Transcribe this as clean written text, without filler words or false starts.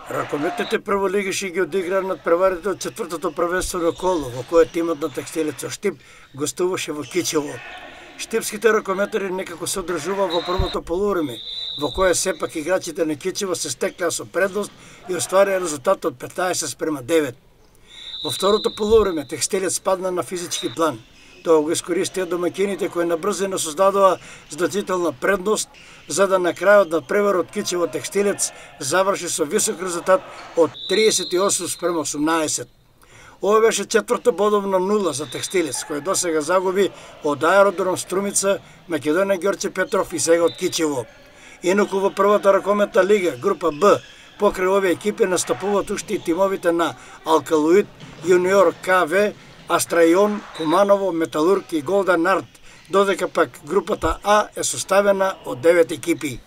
Ракометните прволигиши ги одиграа надпреварите од четвртото првенствено коло, во кое тимот на Текстилец со Штип гостуваше во Кичево. Штипските ракометари некако се одржува во првото полувреме, во кое сепак играчите на Кичево се стеклеа со предност и остварија резултат од 15:9. Во второто полувреме Текстилец падна на физички план. Тоа го искористија домаќините кои набрзено создадоа значителна предност, за да на крајот на преварот Кичево Текстилец заврши со висок резултат од 38:18. Ова беше четврто бодовна нула за Текстилец, кој досега загуби од Аеродром Струмица, Македонија Ѓорче Петров и сега од Кичево. Инаку во првата ракометна лига, група Б, покрај овие екипи настапуваат уште и тимовите на Алкалоид, Јуниор КВ, Астрајон, Куманово, Металург и Голден Арт, додека пак групата А е составена од 9 екипи.